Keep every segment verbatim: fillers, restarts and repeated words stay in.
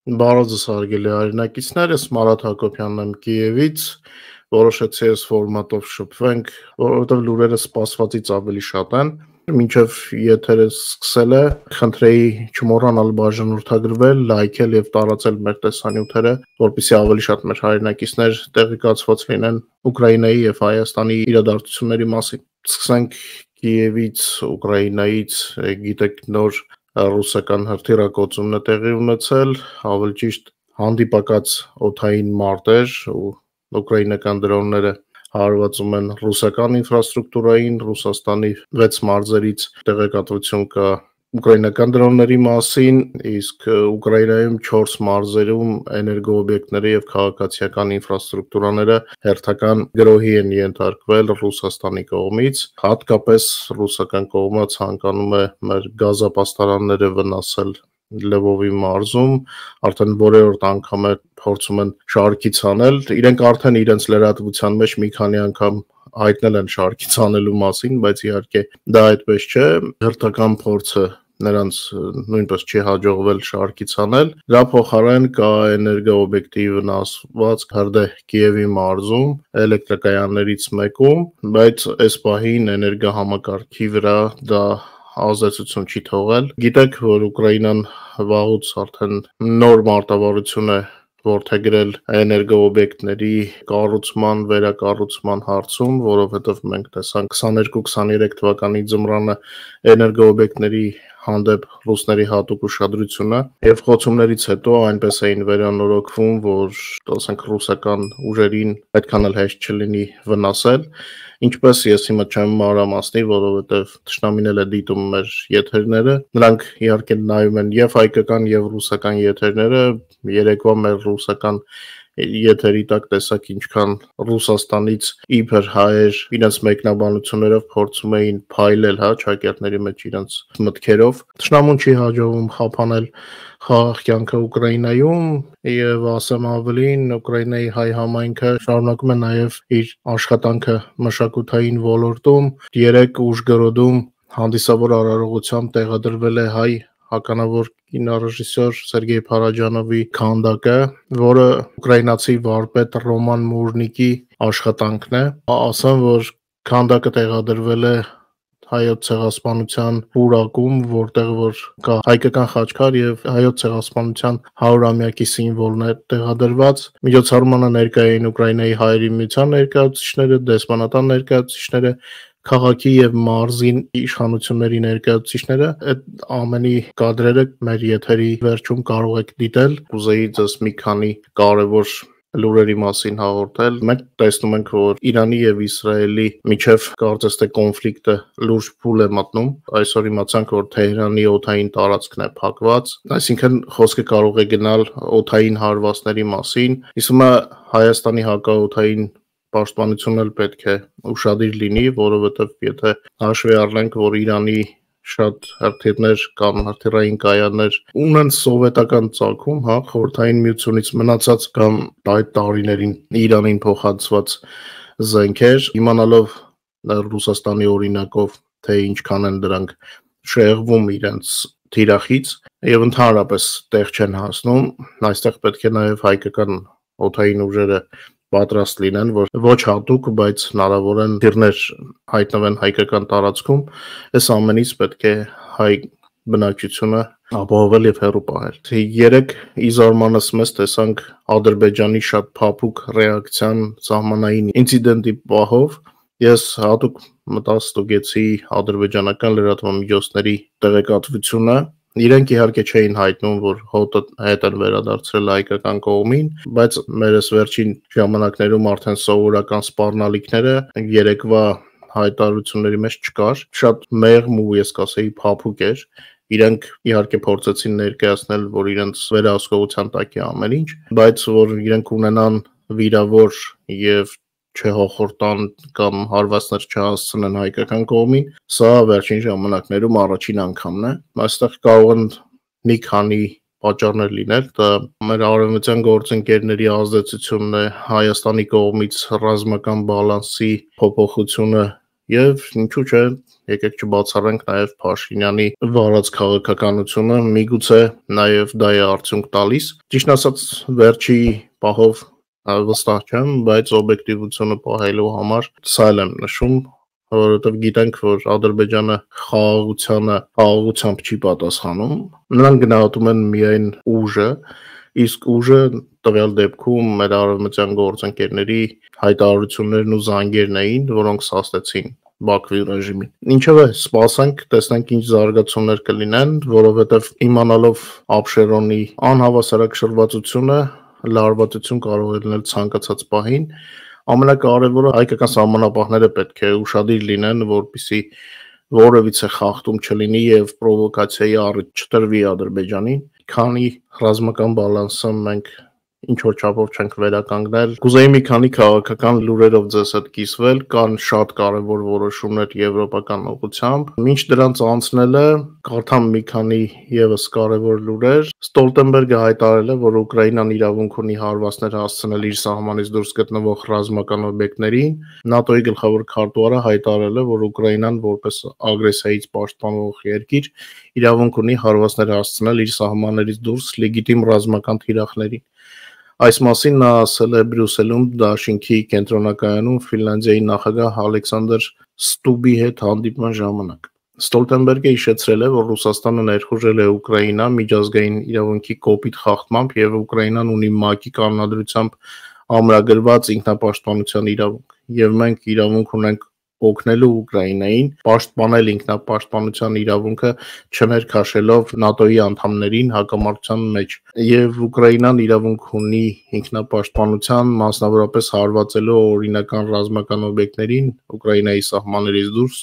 Բարոյ ձեզ հարգելի հայրենակիցներ, ես Մարատ Հակոբյանն եմ Կիևից, որոշեցի այս ֆորմատով շփվենք, որովհետև լուրերը սպասվածից ավելի շատ են, մինչև եթերը սկսել է, խնդրեի չմոռանալ բաժանորդագրվել, լայքել և տարածել մեր տեսանյութերը, որպեսզի ավելի շատ մեր հայրենակիցներ տեղեկացված լինեն Ուկրաինայի և Հայաստանի իրադարձությունների մասին։ Սկսենք Կիևից, Ուկրաինայից, գիտեք նոր ռուսական հրթիռակոծումն է տեղի ունեցել, ավելի ճիշտ հանդիպակաց օդային մարտեր ու ուկրաինական դրոնները հարվածում են ռուսական ինֆրաստրուկտուրային, Ռուսաստանի վեց մարզերից տեղեկատվություն կա ուկրաինական դրոնների մասին, իսկ Ուկրաինայում չորս մարզերում էներգոօբյեկտները և քաղաքացիական ինֆրաստրուկտուրաները հերթական գրոհի են ենթարկվել Ռուսաստանի կողմից, հատկապես ռուսական կողմը ցանկանում է մեր գազապաստարանները վնասել Լվովի մարզում, արդեն որերորդ անգամ է փորձում են շարքից հանել, իրենք արդեն իրենց լրատվության մեջ մի քանի անգամ հայտնել են շարքից հանելու մասին, բայց իհարկե դա այդպես չէ, հերթական փորձը նրանց նույնպես չի հաջողվել շարքից հանել, դրա փոխարեն կա էներգոօբյեկտի վնասվածք հրդեհ Կիևի մարզում, էլեկտրակայաններից մեկում, բայց այս պահին էներգոհամակարգի վրա դա ազդեցություն չի թողել։ Գիտեք, որ Ուկրաինան վաղուց արդեն նոր մարտավարություն է որդեգրել էներգոօբյեկտների կառուցման, վերակառուցման հարցում, որովհետև մենք տեսանք քսաներկու քսաներեք թվականի ձմռանը էներգոօբյեկտների հանդեպ ռուսների հատուկ ուշադրությունը և խոցումներից հետո այնպես էին վերանորոգվում, որ ասենք ռուսական ուժերին այդքան էլ հեշտ չլինի վնասել, ինչպես ես հիմա չեմ մանրամասնի, որովհետև թշնամին էլ է դիտում մեր եթերները, նրանք իհարկե նայում են և հայկական և ռուսական եթերները, երեկվա մեր ռուսական եթերի տակ տեսակ ինչքան Ռուսաստանից իբր հայեր իրենց մեկնաբանություններով փորձում էին փայլել, հա, ճակատների մեջ իրենց մտքերով, թշնամուն չի հաջողվում խափանել խաղաղ կյանքը Ուկրաինայում և ասեմ ավելին, Ուկրաինայի հայ համայնքը շարունակում է նաև իր աշխատանքը մշակութային ոլորտում, երեկ Ուժգորոդում հանդիսավոր արարողությամբ տեղադրվել է հայ ականավոր կինոռեժիսոր Սերգեյ Փարաջանովի քանդակը, որը ուկրաինացի վարպետ Ռոման Մուրնիկի աշխատանքն է, ասեմ, որ քանդակը տեղադրվել է Հայոց ցեղասպանության պուրակում, որտեղ որ կա հայկական խաչքար և Հայոց ցեղասպանության հարյուրամյակի սիմվոլն է տեղադրված, միջոցառմանը ներկա էին Ուկրաինայի հայերի միության ներկայացուցիչները, դեսպանատան ներկայացուցիչները, քաղաքի և մարզի իշխանությունների ներկայացուցիչները, այդ ամենի կադրերը մեր եթերի վերջում կարող եք դիտել, կուզեի ձեզ մի քանի կարևոր լուրերի մասին հաղորդել, մենք տեսնում ենք, որ Իրանի և Իսրայելի միջև կարծես թե կոնֆլիկտը լուրջ փուլ է մտնում, այսօր իմացանք, որ Թեհրանի օդային տարածքն է փակված, այսինքն խոսքը կարող է գնալ օդային հարվածների մասին, իսկ հիմա Հայաստանի հակաօդային պաշտպանությունն էլ պետք է ուշադիր լինի, որովհետև եթե հաշվի առնենք, որ Իրանի շատ հրթիռներ կամ հրթիռային կայաններ ունեն սովետական ծագում, հա, Խորհրդային Միությունից մնացած կամ այդ տարիներին Իրանին փոխանցված զենքեր, իմանալով Ռուսաստանի օրինակով, թե ինչքան են դրանք շեղվում իրենց թիրախից և ընդհանրապես տեղ չեն հասնում, այստեղ պետք է նաև հայկական օդային ուժերը պատրաստ լինեն, որ ոչ հատուկ, բայց հնարավոր են թիրներ հայտնվեն հայկական տարածքում, այս ամենից պետք է հայ բնակչությունը ապահովել և հեռու պահել։ Երեկ ի զարմանս մեզ տեսանք Ադրբեջանի շատ փափուկ ռեակցիան սահմանային ինցիդենտի պահով, ես հատուկ մտա ստուգեցի ադրբեջանական լրատվամիջոցների տեղեկատվությունը, իրենք իհարկե չէին հայտնում, որ հոտը հետ են վերադարձրել հայկական կողմին, բայց մեր այս վերջին ժամանակներում արդեն սովորական սպառնալիքները երեկվա հայտարարությունների մեջ չկար, շատ մեղմ ու ես կասեի փափուկ էր, իրենք իհարկե փորձեցին ներկայացնել, որ իրենց վերահսկողության տակ է ամեն ինչ, բայց որ իրենք ունենան վիրավոր և չհոխորտան կամ հարվածներ չհասցնեն հայկական կողմին, սա վերջին ժամանակներում առաջին անգամն է, այստեղ կարող են մի քանի պատճառներ լինել, դա մեր արևմտյան գործընկերների ազդեցությունն է, Հայաստանի կողմից ռազմական բալանսի փոփոխությունը եւ ինչու՞ չէ, եկեք չբացառենք նաեւ Փաշինյանի վարած քաղաքականությունը, միգուցե նաեւ դա է արդյունք տալիս։ Ճիշտ ասած, վերջի պահով վստահ չեմ, բայց օբյեկտիվությունը պահելու համար սա էլ եմ նշում, որովհետեւ գիտենք, որ Ադրբեջանը խաղաղությանը խաղաղությամբ չի պատասխանում, նրանք գնահատում են միայն ուժը, իսկ ուժը տվյալ դեպքում մեր արևմտյան գործընկերների հայտարարություններն ու զանգերն էին, որոնք սաստեցին Բաքվի ռեժիմին։ Ինչևէ, սպասենք, տեսնենք ինչ զարգացումներ կլինեն, որովհետև իմանալով Աբշերոնի անհավասարակշռվածությունը, լարվածություն կարող է լինել ցանկացած պահին, ամենակարևորը հայկական սահմանապահները պետք է ուշադիր լինեն, որպեսզի որևիցե խախտում չլինի եւ պրովոկացիայի առիթ չտրվի Ադրբեջանին, քանի ռազմական բալանսը մենք ինչ որ չափով չենք վերականգնել։ Կուզեի մի քանի քաղաքական լուրերով ձեզ հետ կիսվել, կան շատ կարևոր որոշումներ եվրոպական ուղղությամբ։ Մինչ դրանց անցնելը կարդամ մի քանի եւս կարևոր լուրեր։ Ստոլտենբերգը հայտարարել է, որ Ուկրաինան իրավունք ունի հարվածներ հասցնել իր սահմանից դուրս գտնվող ռազմական օբյեկտներին։ ՆԱՏՕ-ի գլխավոր քարտուղարը հայտարարել է, որ Ուկրաինան որպես ագրեսիայից պաշտպանող երկիր իրավունք ունի հարվածներ հասցնել իր սահմաններից դուրս լեգիտիմ ռազմական թիրախներին։ Այս մասին նա ասել է Բրյուսելում Դաշինքի կենտրոնակայանում Ֆինլանդիայի նախագահ Ալեքսանդր Ստուբի հետ հանդիպման ժամանակ։ Ստոլտենբերգը հիշեցրել է, որ Ռուսաստանը ներխուժել է Ուկրաինա միջազգային իրավունքի կոպիտ խախտմամբ եւ Ուկրաինան ունի ՄԱԿ-ի կանոնադրությամբ ամրագրված ինքնապաշտպանության իրավունք, եւ մենք իրավունք ունենք օգնելու Ուկրաինային պաշտպանել ինքնապաշտպանության իրավունքը չներքաշելով ՆԱՏՕ-ի անդամներին հակամարտության մեջ, եւ Ուկրաինան իրավունք ունի ինքնապաշտպանության, մասնավորապես հարվածելու օրինական ռազմական օբյեկտներին Ուկրաինայի սահմաններից դուրս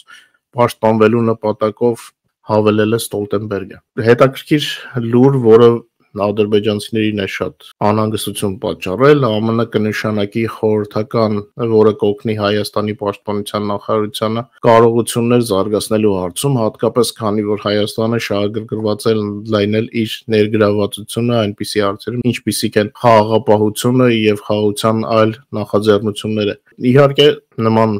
պաշտպանվելու նպատակով, հավելել է Ստոլտենբերգը։ Հետաքրքիր լուր, որը ադրբեջանցիներին է շատ անհանգստություն պատճառել, ԱՄՆ կնշանակի խորհրդական, որը կօգնի Հայաստանի պաշտպանության նախարարությանը կարողություններ զարգացնելու հարցում, հատկապես քանի որ Հայաստանը շահագրգռված է ընդլայնել իր ներգրավվածությունը այնպիսի հարցերում, ինչպիսիք են խաղաղապահությունը եւ խաղաղության այլ նախաձեռնությունները։ Իհարկե, նման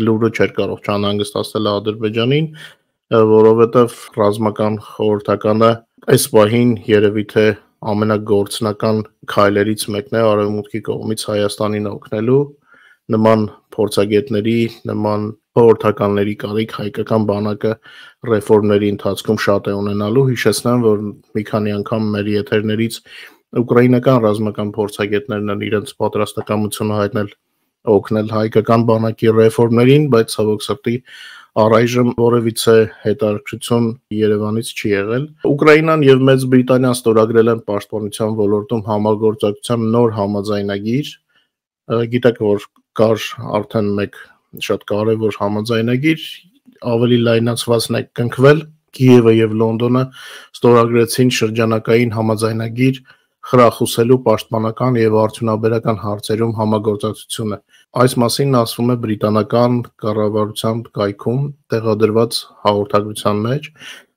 լուրը չէր կարող չանհանգստացնել Ադրբեջանին, որովհետև ռազմական խորհրդականը այս պահին երևի թե ամենագործնական քայլերից մեկն է Արևմուտքի կողմից Հայաստանին օգնելու, նման փորձագետների, նման խորհրդականների կարիք հայկական բանակը ռեֆորմների ընթացքում շատ է ունենալու։ Հիշեցնեմ, որ մի քանի անգամ մեր եթերներից ուկրաինական ռազմական փորձագետներն են իրենց պատրաստակամությունը հայտնել օգնել հայկական բանակի ռեֆորմներին, բայց ցավոք սրտի առայժմ որևիցե հետաքրքրություն Երևանից չի եղել։ Ուկրաինան եւ Մեծ Բրիտանիան ստորագրել են պաշտպանության ոլորտում համագործակցության նոր համաձայնագիր։ Գիտեք, որ կար արդեն մեկ շատ կարևոր համաձայնագիր, ավելի լայնացվածն է կնքվել։ Կիևը եւ Լոնդոնը ստորագրեցին շրջանակային համաձայնագիր խրախուսելու պաշտպանական եւ արդյունաբերական հարցերում համագործակցությունը։ Այս մասին ասվում է բրիտանական կառավարության կայքում տեղադրված հաղորդագրության մեջ։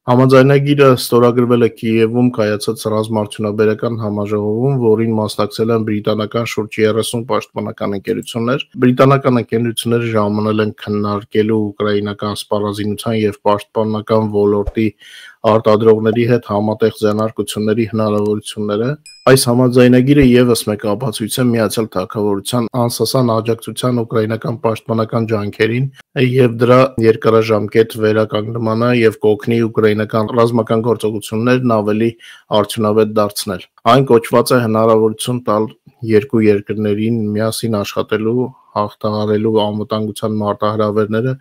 Համաձայնագիրը ստորագրվել է Կիևում կայացած ռազմաարդյունաբերական համաժողովում, որին մասնակցել են բրիտանական շուրջ երեսուն պաշտպանական ընկերություններ։ Բրիտանական ընկերությունները ժամանել են քննարկելու ուկրաինական սպառազինության եւ պաշտպանական ոլորտի արտադրողների հետ համատեղ ձեռնարկությունների հնարավորությունները։ Այս համաձայնագիրը եւս մեկ ապացույց է Միացյալ Թագավորության անսասան աջակցության ուկրաինական պաշտպանական ջանքերին եւ դրա երկարաժամկետ վերականգնմանը եւ կօգնի ուկրաինական ռազմական գործողություններն ավելի արդյունավետ դարձնել։ Այն կոչված է հնարավորություն տալ երկու երկրներին միասին աշխատելու, հաղթահարելու անվտանգության մարտահրավերները,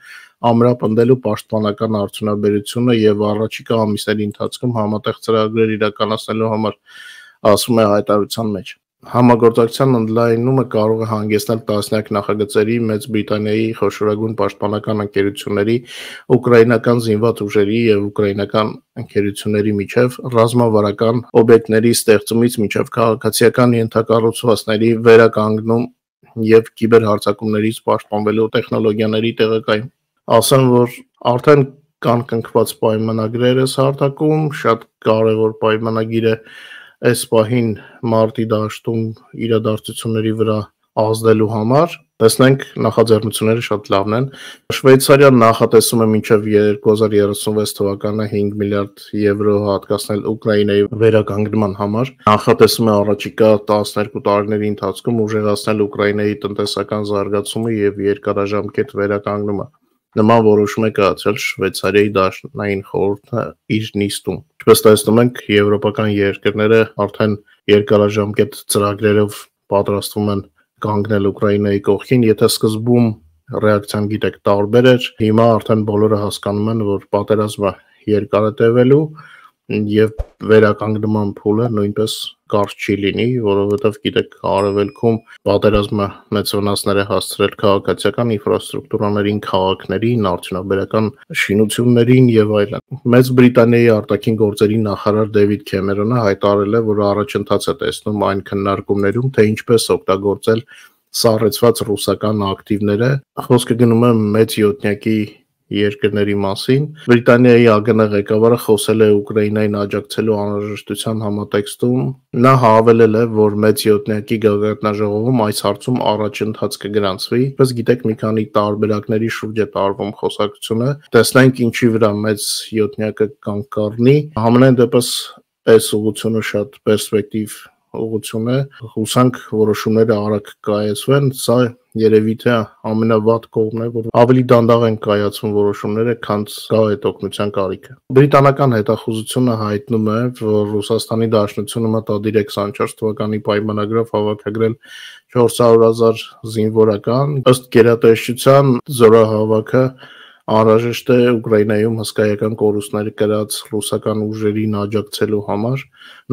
ամրապնդելու պաշտպանական արդյունաբերությունը եւ առաջիկա ամիսների ընթացքում համատեղ ծրագրեր իրականացնելու համար, ասում է հայտարարության մեջ։ Համագործակցության ընդլայնումը կարող է հանգեցնել տասնյակ նախագծերի Մեծ Բրիտանիայի խոշորագույն պաշտպանական ընկերությունների, ուկրաինական զինված ուժերի եւ ուկրաինական ընկերությունների միջև ռազմավարական օբյեկտների ստեղծումից մինչև քաղաքացիական ենթակառուցվածքների վերականգնում եւ կիբերհարձակումներից պաշտպանվելու տեխնոլոգիաների տեղակայում։ Ասեմ, որ արդեն կան կնքված պայմանագրեր այս հարթակում, շատ կարևոր պայմանագիր է այս պահին մարտի դաշտում իրադարձությունների վրա ազդելու համար։ Տեսնենք նախաձեռնությունները շատ լավն են։ Շվեյցարիան նախատեսում է մինչև երկու հազար երեսունվեց թվականը հինգ միլիարդ եվրո հատկացնել Ուկրաինայի վերականգնման համար։ Նախատեսում է առաջիկա տասներկու տարիների ընթացքում ուժեղացնել Ուկրաինայի տնտեսական զարգացումը եւ երկարաժամկետ վերականգնումը։ Նման որոշում է կայացրել Շվեյցարիայի դաշնային խորհուրդը իր նիստում։ Ինչպես տեսնում ենք, եվրոպական երկրները արդեն երկարաժամկետ ծրագրերով պատրաստվում են կանգնել Ուկրաինայի կողքին, եթե սկզբում ռեակցիան գիտեք տարբեր էր, հիմա արդեն բոլորը հասկանում են, որ պատերազմը երկար է տևելու եւ վերականգնման փուլը նույնպես կարճ չի լինի, որովհետեւ գիտեք արևելքում պատերազմը մեծ վնասներ է հասցրել քաղաքացիական ինֆրաստրուկտուրաներին, քաղաքներին, արդյունաբերական շինություններին եւ այլն։ Մեծ Բրիտանիայի արտաքին գործերի նախարար Դեվիդ Քեմերոնը հայտարարել է, որ առաջընթաց է տեսնում այն քննարկումներում, թե ինչպես օգտագործել սառեցված ռուսական ակտիվները։ Խոսքը գնում է մեծ յոթնյակի երկրների մասին։ Բրիտանիայի ԱԳՆ ղեկավարը խոսել է Ուկրաինային աջակցելու անհրաժեշտության համատեքստում։ Նա հավելել է, որ մեծ յոթնյակի գագաթնաժողովում այս հարցում առաջընթաց կգրանցվի։ Ինչպես գիտեք, մի քանի տարբերակների շուրջ է տարվում խոսակցությունը։ Տեսնենք ինչի վրա մեծ յոթնյակը կանգ կառնի։ Համենայն դեպս այս ուղղությունը շատ պերսպեկտիվ ուղղություն է, հուսանք որոշումները արագ կայացվեն, սա երևի թե ամենավատ կողմն է, որ ավելի դանդաղ են կայացվում որոշումները, քան կա այդ օգնության կարիքը։ Բրիտանական հետախուզությունը հայտնում է, որ Ռուսաստանի Դաշնությունը մտադիր է քսանչորս թվականի պայմանագրով հավաքագրել չորս հարյուր հազար զինվորական, ըստ գերատեսչության զորահավաքը անհրաժեշտ է Ուկրաինայում հսկայական կորուստներ կրած ռուսական ուժերին աջակցելու համար։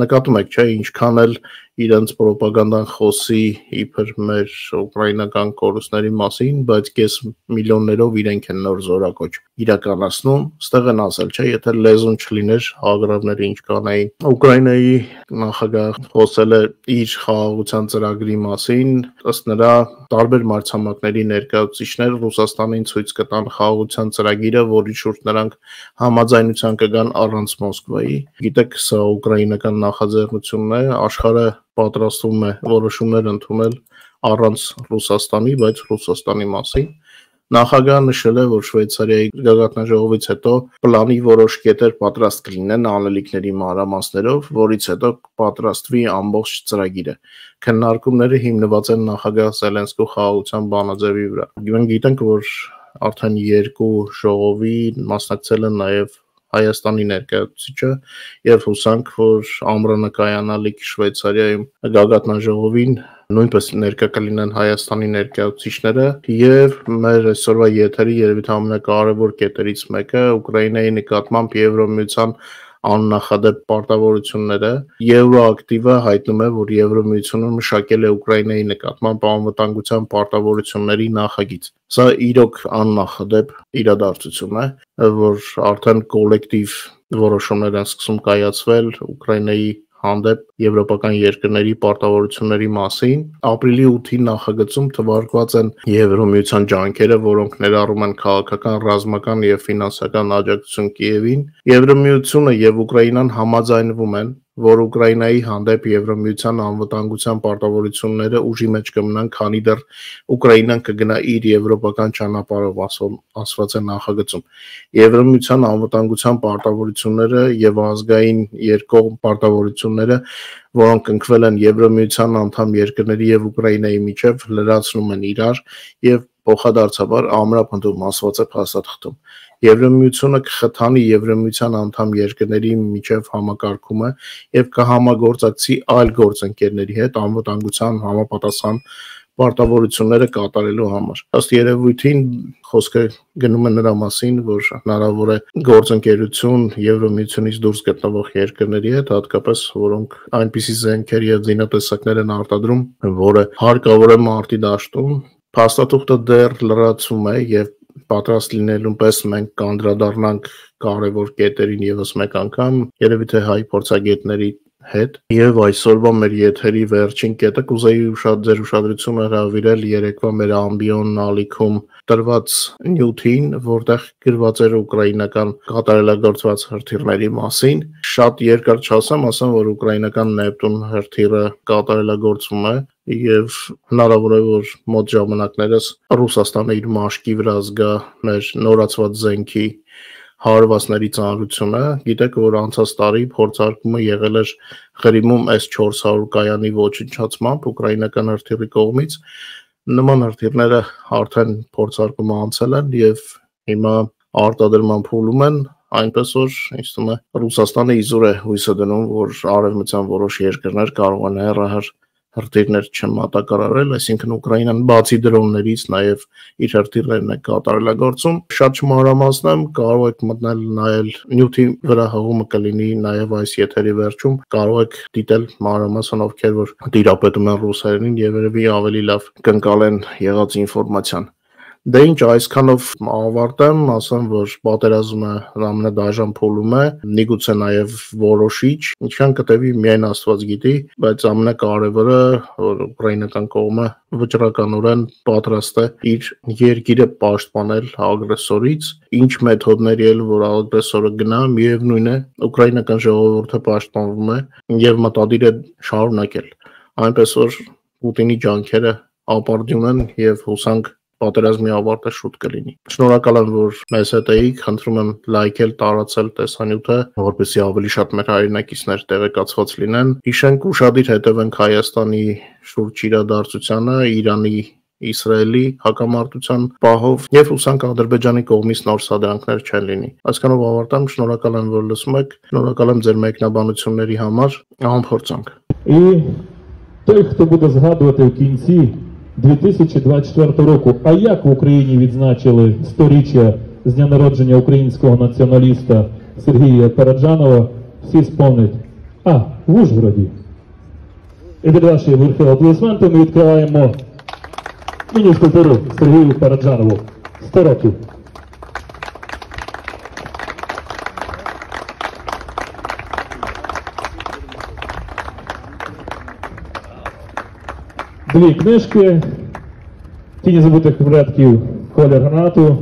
Նկատում եք, չէ, ինչքան էլ իրենց պրոպագանդան խոսի իբր մեր ուկրաինական կորուստների մասին, բայց կես միլիոններով իրենք են նոր զորակոչ իրականացնում, ստեղ են ասել, չէ, եթե լեզուն չլիներ, հագրավները ինչ կանային։ Ուկրաինայի նախագահ խոսել է իր խաղաղության ծրագրի մասին, ըստ նրա տարբեր մայրցամաքների ներկայացուցիչներ Ռուսաստանին ցույց կտան խաղաղության ծրագիրը, որի շուրջ նրանք համաձայնության կգան առանց Մոսկվայի։ Գիտեք, սա ուկրաինական նախաձեռնությունն է, աշխարհը պատրաստվում է որոշումներ ընդունել առանց Ռուսաստանի, բայց Ռուսաստանի մասին։ Նախագահը նշել է, որ Շվեյցարիայի գագաթնաժողովից հետո պլանի որոշ կետեր պատրաստ կլինեն անելիքների մանրամասներով, որից հետո պատրաստվի ամբողջ ծրագիրը։ Քննարկումները հիմնված են նախագահ Զելենսկու խաղաղության բանաձևի վրա։ Մենք գիտենք, որ արդեն երկու ժողովի մասնակցել են նաև Հայաստանի ներկայացուցիչը եւ հուսանք, որ ամռանը կայանալիք Շվեյցարիայում գագաթնաժողովին նույնպես ներկա կլինեն Հայաստանի ներկայացուցիչները եւ մեր այսօրվա եթերի երևի թե ամենակարևոր կետերից մեկը Ուկրաինայի նկատմամբ Եվրոմիության աննախադեպ պարտավորությունները։ Եվրոակտիվը հայտնում է, որ Եվրոմիությունը մշակել է Ուկրաինայի նկատմամբ անվտանգության պարտավորությունների նախագիծ։ Սա իրոք աննախադեպ իրադարձություն է, որ արդեն կոլեկտիվ որոշումներ են սկսում կայացվել Ուկրաինայի հանդեպ եվրոպական երկրների պարտավորությունների մասին։ Ապրիլի ութի նախագծում թվարկված են Եվրոմիության ջանքերը, որոնք ներառում են քաղաքական, ռազմական եւ ֆինանսական աջակցություն Կիևին։ Եվրոմիությունը եւ Ուկրաինան համաձայնվում են, որ Ուկրաինայի հանդեպ Եվրոմիության անվտանգության պարտավորությունները ուժի մեջ կմնան, քանի դեռ Ուկրաինան կգնա իր եվրոպական ճանապարհով, ասված է նախագծում։ Եվրոմիության անվտանգության պարտավորությունները եւ ազգային երկկողմ պարտավորությունները, որոնք կնքվել են Եվրոմիության անդամ երկրների եւ Ուկրաինայի միջև, լրացնում են իրար եւ փոխադարձաբար ամրապնդում, ասված է փաստաթղթում։ Եվրոմիությունը կխթանի Եվրոմիության անդամ երկրների միջև համակարգումը եւ կհամագործակցի այլ գործընկերների հետ անվտանգության համապատասխան պարտավորությունները կատարելու համար։ Ըստ երևույթին խոսքը գնում է նրա մասին, որ հնարավոր է գործընկերություն Եվրոմիությունից դուրս գտնվող երկրների հետ, հատկապես որոնք այնպիսի զենքեր եւ զինատեսակներ են արտադրում, որը հարկավոր է մարտի դաշտում։ Փաստաթուղթը դեռ լրացում է եւ պատրաստ լինելուն պես մենք կանդրադառնանք կարևոր կետերին եւս մեկ անգամ, երևի թե հայ փորձագետների հետ։ Եվ այսօրվա մեր եթերի վերջին կետը կուզեի ուշად ձեր ուշադրությունը հրավիրել երեկվա մեր ամբիոն ալիքում տրված նյութին, որտեղ գրված էր ուկրաինական կատարելագործված հրթիռների մասին։ Շատ երկար չասեմ, ասեմ, որ ուկրաինական Նեպտուն հրթիռը կատարելագործվում է եւ հնարավոր է որ մոտ ժամանակներս Ռուսաստանը իր մաշկի վրա զգա մեր նորացված զենքի հարվածների ծանրությունը։ Գիտեք, որ անցած տարի փորձարկումը եղել էր Ղրիմում էս չորս հարյուր կայանի ոչնչացմամբ ուկրաինական հրթիռի կողմից։ Նման հրթիռները արդեն փորձարկումը անցել են եւ հիմա արտադրման փուլում են, այնպես որ ինձ թվում է Ռուսաստանը իզուր է հույսը դնում, որ արևմտյան որոշ երկրներ կարող են հեռահար հրթիռներ չմատակարարել, այսինքն Ուկրաինան բացի դրոններից նաև իր հրթիռներն է կատարելագործում։ Շատ չմանրամասնեմ, կարող եք մտնել նայել նյութի վրա հղումը կլինի նաև այս եթերի վերջում, կարող եք դիտել մանրամասն ովքեր որ տիրապետում են ռուսերենին եւ երևի ավելի լավ կընկալեն եղած ինֆորմացիան։ Դե ինչ, այսքանով ավարտեմ, ասեմ, որ պատերազմը ամենադաժան փուլում է, միգուցե նաև որոշիչ, ինչքան կտևի միայն Աստված գիտի, բայց ամենակարևորը, որ ուկրաինական կողմը վճռականորեն պատրաստ է իր երկիրը պաշտպանել ագրեսորից, ինչ մեթոդների էլ որ ագրեսորը գնա, միևնույն է, ուկրաինական ժողովուրդը պաշտպանվում է եւ մտադիր է շարունակել, այնպես որ Պուտինի ջանքերը ապարդյուն են եւ հուսանք պատերազմի ավարտը շուտ կլինի։ Շնորհակալ եմ, որ մեզ հետ էիք, խնդրում եմ լայքել, տարածել տեսանյութը, որպեսզի ավելի շատ մեր հայրենակիցներ տեղեկացված լինեն։ Հիշենք ուշադիր հետևենք Հայաստանի շուրջ իրադարձությանը, Իրանի, Իսրայելի հակամարտության պահով եւ հուսանք Ադրբեջանի կողմից նոր սադրանքներ չեն լինի։ Այսքանով ավարտեմ, շնորհակալ եմ, որ լսում եք, շնորհակալ եմ ձեր մեկնաբանությունների համար, անփորձանք։ І той, хто буде згадувати в кінці дві тисячі двадцять четвертого року, а як в Україні відзначили сторіччя з дня народження українського націоналіста Сергія Параджанова, всі спомнять, а, в Ужгороді. І від вашої верхи аплодисменти ми відкриваємо міні скульптуру Сергію Параджанову. сто років. Дві книжки, Тіні забутих предків, Колір гранату.